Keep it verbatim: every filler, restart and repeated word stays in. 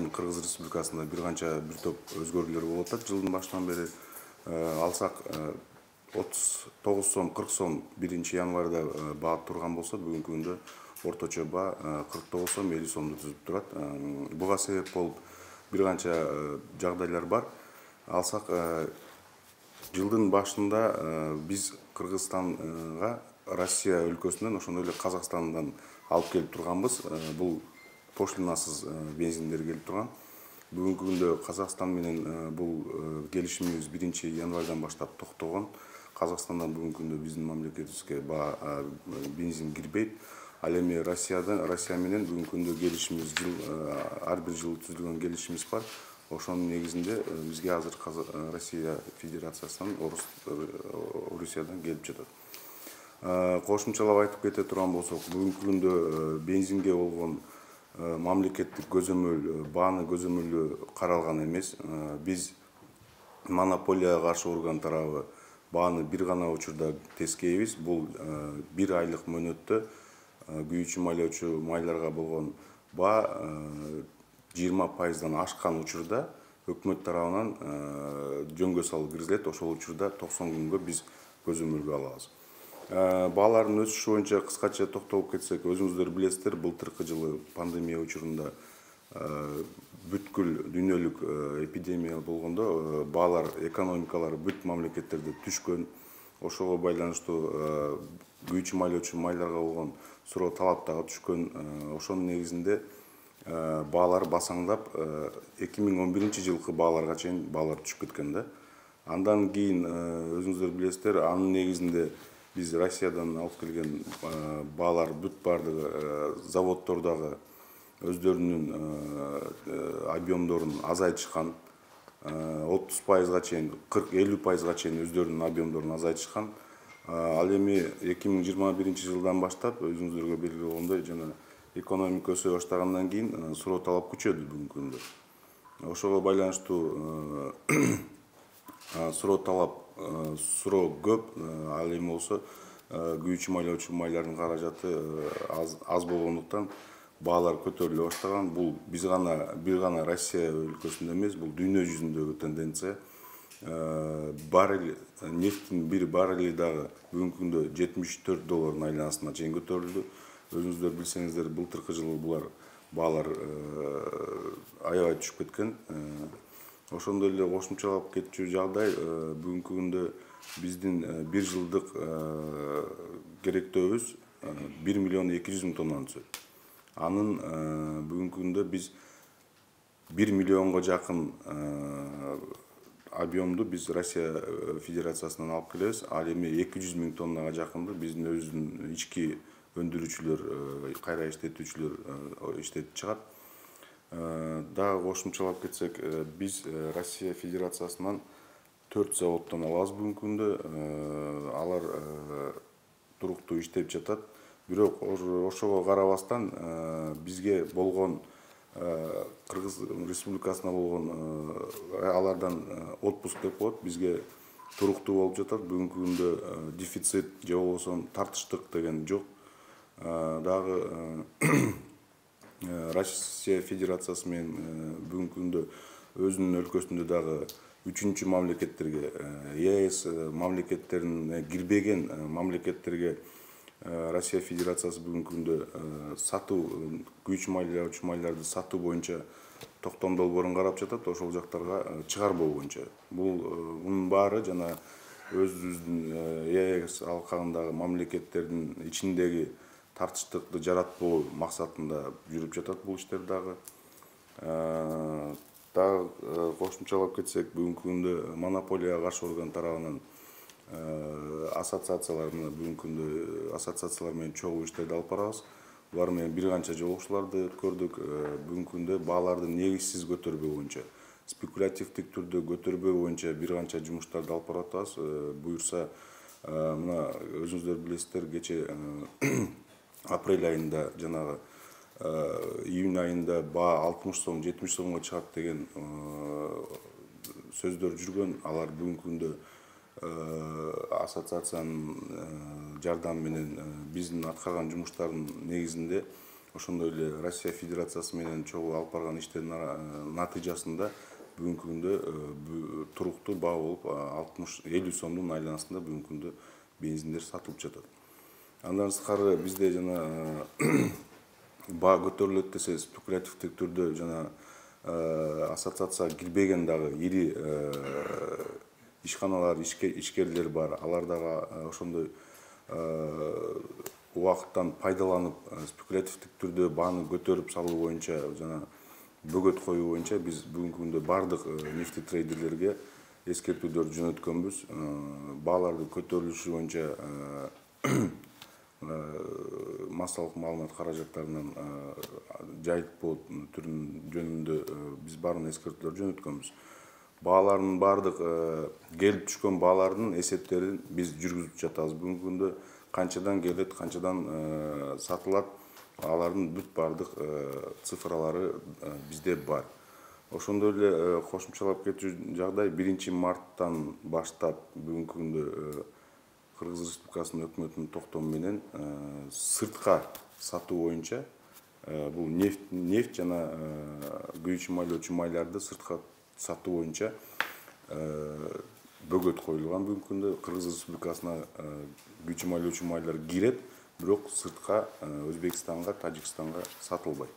Кыргыз Республикасында бир канча бир топ өзгөрүүлөр болуп атат жылдын башынан бери. Алсак отуз тогуз сом кырк сом биринчи январда баа турган болсо, бүгүнкү күндө орточо баа кырк тогуз сом элүү сомду түзүп турат. Буга себеп болуп бир канча жагдайлар бар. Алсак жылдын башында биз Кыргызстанга Россия өлкөсүнөн ошондой эле Казакстандан алып келип турганбыз. Бул пошлинасыз бензиндер келип турган. Бүгүнкү күндө Казакстан менен бул келишимибиз биринчи январдан баштап токтогон. Казакстандан бүгүнкү күндө биздин мамлекетибизге бензин кирбейт. Ал эми Россиядан Россия менен бүгүнкү күндө келишимибиз жыл ар бир жыл түзүлгөн келишимибиз бар. Ошонун негизинде бизге азыр Россия Федерациясынан Орусиядан келип жатат. Кошумчалап айтып кете турган болсок, бүгүнкү күндө бензинге болгон мамлекеттик көзөмөл, бааны көзөмөлү каралган эмес. Биз монополияга каршы орган тарабы бааны бир гана учурда тескейбиз. Бул бир айлык мөөнөттө күйүүчү майлоочу майларга болгон баа жыйырма пайыздан ашкан учурда өкмөт тарабынан жөнгө салып киргизилет. Ошол учурда токсон күнгө биз көзөмөлгө алабыз. Баалардын өсүшү боюнча кыскача токтолуп кетсек, өзүңүздөр билесиздер, былтыркы жылы пандемия учурунда бүткүл дүйнөлүк эпидемия болгондо баалар, экономикалар бүт мамлекеттерде түшкөн. Ошого байланыштуу күйүүчү майлоочу майларга болгон суроо талап дагы түшкөн. Ошонун негизинде баалар басаңдап, эки миң он биринчи жылкы бааларга чейин баалар түшүп кеткен да. Андан кийин өзүңүздөр билесиздер, анын негизинде биз Россиядан алып келген баалар бүт бардыгы заводдордогу өздөрүнүн объемдорун азайтышкан. отуз пайызга чейин, кырк элүү пайызга чейин өздөрүнүн объемдорун азайтышкан. Ал эми эки миң жыйырма биринчи жылдан баштап өзүңүздөргө белгилүү болгондой, жана экономика өсө баштагандан кийин суроо талап күчөдү бүгүнкү күндө. Ошого байланыштуу суроо талап, суроо көп. Ал эми болсо күйүүчү майлоочу майлардын каражаты аз болгондуктан баалар көтөрүлө баштаган. Бул биз гана бир гана Россия өлкөсүндө эмес, бул дүйнө жүзүндөгү тенденция. Баррель нефтин бир баррели дагы бүгүнкү күндө жетимиш төрт доллардын айланасына чейин көтөрүлдү. Өзүңүздөр билсеңиздер, былтыркы жылы булар баалар аябай түшүп кеткен. Ошондой эле кошумчалап кетчү жагдай, бүгүнкү күндө биздин бир жылдык керектөөбүз бир миллион эки жүз миң тоннаны түзөт. Анын бүгүнкү күндө биз бир миллионго жакын объемду биз Россия Федерациясынан алып келебиз. Ал эми эки жүз миң тоннага жакынды биздин өзүнүн ички өндүрүүчүлөр, кайра иштетүүчүлөр иштетип чыгат. Дагы кошумчалап кетсек, биз Россия Федерациясынан төрт заводдон алабыз бүгүнкү күндө. Алар туруктуу иштеп жатат. Бирок ошого карабастан бизге болгон Кыргыз Республикасына болгон алардан отпуск деп коет, бизге туруктуу болуп жатат. Бүгүнкү күндө дефицит же болбосо тартыштык деген жок. Дагы Россия Федерациясы менен бүгүнкү күндө өзүнүн өлкөсүндө дагы үчүнчү мамлекеттерге, ЕС мамлекеттерине кирбеген мамлекеттерге Россия Федерациясы бүгүнкү күндө сатуу, күйүүчү майлоочу майларды сатуу боюнча токтом долбоорун карап жатат, ошол жактарга чыгарбоо боюнча. Бул мунун баары жана өзүбүздүн ЕС алкагындагы мамлекеттердин ичиндеги тартыштыкты жаратпоо максатында жүрүп жатат бул иштер дагы. Дагы кошумчалап кетсек, бүгүнкү күндө монополияга каршы орган тарабынан ассоциациялар менен бүгүнкү күндө ассоциациялар менен чогуу иштерди алып барабыз. Булар менен бир канча жолугушууларды өткөрдүк. Бүгүнкү күндө бааларды негизсиз көтөрбөө боюнча, спекулятивдик түрдө көтөрбөө боюнча бир канча жумуштарды алып барып атабыз. Буюрса, мына өзүңүздөр билесиздер, кече апрель айында, жанагы июнь айында баа алтымыш сом, жетимиш сомго чыгат деген сөздөр жүргөн. Алар бүгүнкү күндө ассоциациянын жардамы менен биздин аткарган жумуштардын негизинде ошондой эле Россия Федерациясы менен чогуу алып барган иштердин натыйжасында бүгүнкү күндө туруктуу баа болуп алтымыш элүү сомдун айланасында бүгүнкү күндө бензиндер сатылып жатат. Андан сырткары бизде жана баа көтөрүлөт десе спекулятивдик түрдө жана ассоциацияга кирбеген дагы ири ишканалар, ишкерлер бар. Алар дагы ошондой убакыттан пайдаланып спекулятивдик түрдө бааны көтөрүп салуу боюнча жана бөгөт коюу боюнча биз бүгүнкү күндө бардык нефтетрейдерлерге эскертүүлөрдү жөнөткөнбүз. Баалардын көтөрүлүшү боюнча массалык маалымат каражаттарынан жайылтпоо түрүнүн жөнүндө биз баарын эскертүүлөр жөнөткөнбүз. Баалардын бардык келип түшкөн баалардын эсептерин биз жүргүзүп жатабыз. Бүгүнкү күндө канчадан келет, канчадан сатылат, алардын бүт бардык цифралары бизде бар. Ошондой эле кошумчалап кетүү жагдай биринчи марттан баштап бүгүнкү күндө Кыргыз Республикасынын өкмөтүнүн токтому менен сыртка сатуу боюнча бул нефть, нефть жана күйүүчү майлоочу майларды сыртка сатуу боюнча бөгөт коюлган. Бүгүнкү күндө Кыргыз Республикасына күйүүчү майлоочу майлар кирет, бирок сыртка Өзбекстанга, Тажикстанга сатылбайт.